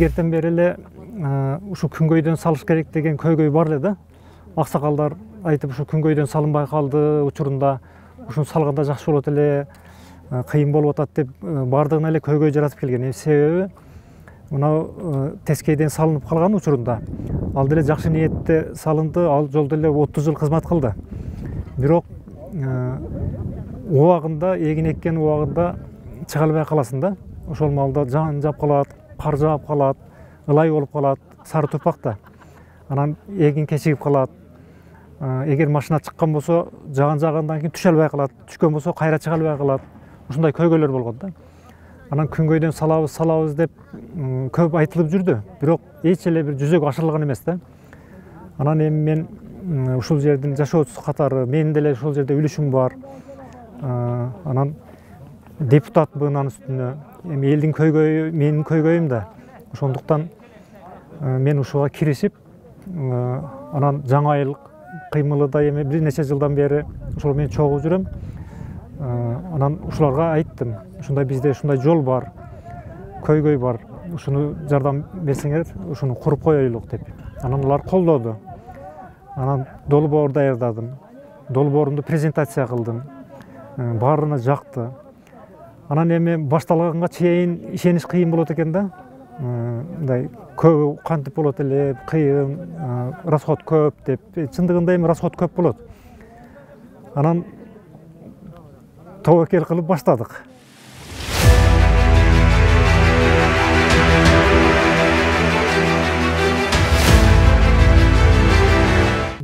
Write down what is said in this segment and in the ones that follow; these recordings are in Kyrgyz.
илгертен бери эле ушу күнгөйдөн салыш керек деген көйгөй бар эле да. Аксакалдар айтып ушу күнгөйдөн салынбай калды учурунда, ушуну салганда жакшы болот эле, кыйын болуп атат деп бардыгына эле көйгөй жаратып келген. Себеби мынау Тескейден салынып калган учурунда ал деле жакшы ниетте салынды, ал жолдо эле 30 жыл кызмат кылды. Бирок убагында, эгин эккен убагында чыга албай каласың да. Ошол маалда жан жап калат, кар жаап калат, ылай болуп калат, сары топакта. Анан эгин кечигип калат. Эгер машина чыккан болсо, жаагандан кийин түшө албай калат, түшкөн болсо кайра чыга албай калат. Ушундай көйгөйлөр болгон да. Анан күнгөйдөн салабыз деп көп айтылып жүрдү, бирок эч эле бир жүзөгө ашырылган эмес да. Анан эми мен ушул жердин жашоочусу катары, менин деле ушул жерде үлүшүм бар. Анан депутатмын анын үстүнө. Эми элдин көйгөйү менин көйгөйүм да. Ошондуктан мен ушуга киришип, анан жаңа эл кыймылы да эми бир нече жылдан бери ошол менен чогуу жүрөм. Анан ушуларга айттым, ушундай бизде ушундай жол бар, көйгөй бар, ушуну жардам берсеңер, ушуну куруп коелук деп. Анан улар колдоду. Анан долбоор даярдадым. Долбоорумду презентация кылдым. Баарына жакты. Анан эми башталганга чейин ишениш кыйын болот экен да. Мындай көп кантип болот эле, кыйын, расход көп деп. Чындыгында эми расход көп болот. Анан тобокел кылып баштадык.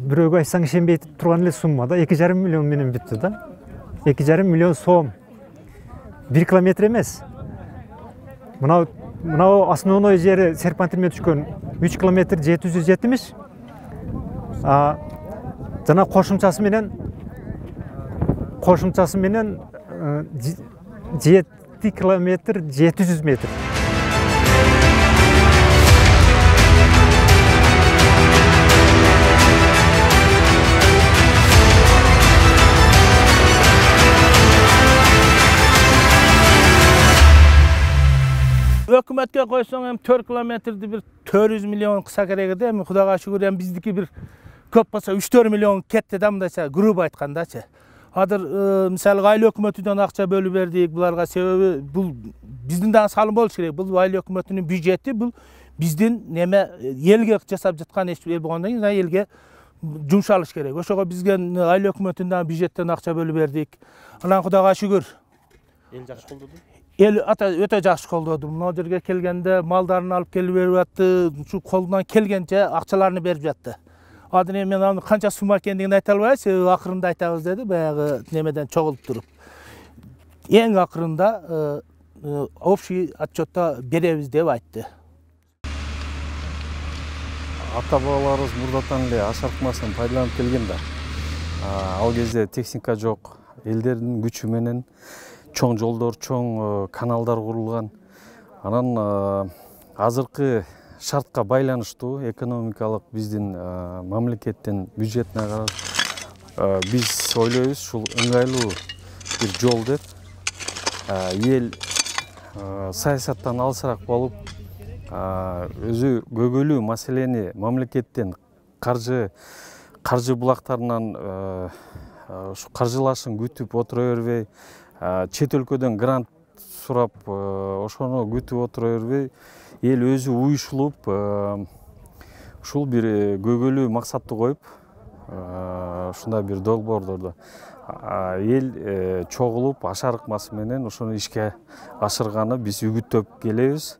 Бирөөгө айтсаң ишенбей турган эле сумма да, 2,5 миллион менен бүттү да. 2,5 миллион сом. 1 километр эмес. Мынау основной жери серпантирме түшкөн 3 километр 770. Жана кошумчасы менен 7 километр 700 метр. Өкмөткө койсоң эми 4 километрди бир 400 миллион кыса керек эди. Эми Кудайга шүгүр, эми биздики бир көп болсо 3-4 миллион кетти да, мындайча грубо айткандачы. Азыр мисалы айыл өкмөтүнөн акча бөлүп бердик буларга, себеби бул биздин дагы салым болуш керек. Бул айыл өкмөтүнүн бюджети, бул биздин неме элге жасап жаткан иш болгондон кийин элге жумшалыш керек. Ошого бизге айыл өкмөтүнүн бюджеттен акча бөлүп бердик. Анан Кудайга шүгүр. Эл жакшы колдоду? Эл өтө жакшы колдоду. Мына жерге келгенде малдарын алып келип берип атты, ушу колунан келгенче акчаларны берип жатты. Азыр эми мен аны канча сумма экендигин айта албайм, себеби акырында айтабыз деди, баягы немеден чогулуп туруп. Эң акырында общий отчетто беребиз деп айтты. Ата-бабаларыбыз мурдатан эле ашаркмасын пайдаланып келген да. Ал кезде техника жок, элдердин күчү менен чоң жолдор, чоң каналдар курулган. Анан азыркы шартка байланыштуу экономикалык биздин мамлекеттин бюджетине карап биз ойлойбуз, ушул ыңгайлуу бир жол деп. Эл саясаттан алысыраак болуп, өзү көйгөйлүү маселени мамлекеттен каржы булактарынан ушу каржылашын күтүп отура бербей, чет өлкөдөн грант сурап, ошону күтүп отура бербей, эл өзү уюшулуп, ушул бир көйгөйлүү максатты коюп, ушундай бир долбоордорду эл чогулуп, ашарыкмасы менен ошону ишке ашырганы биз үгүттөп келебиз.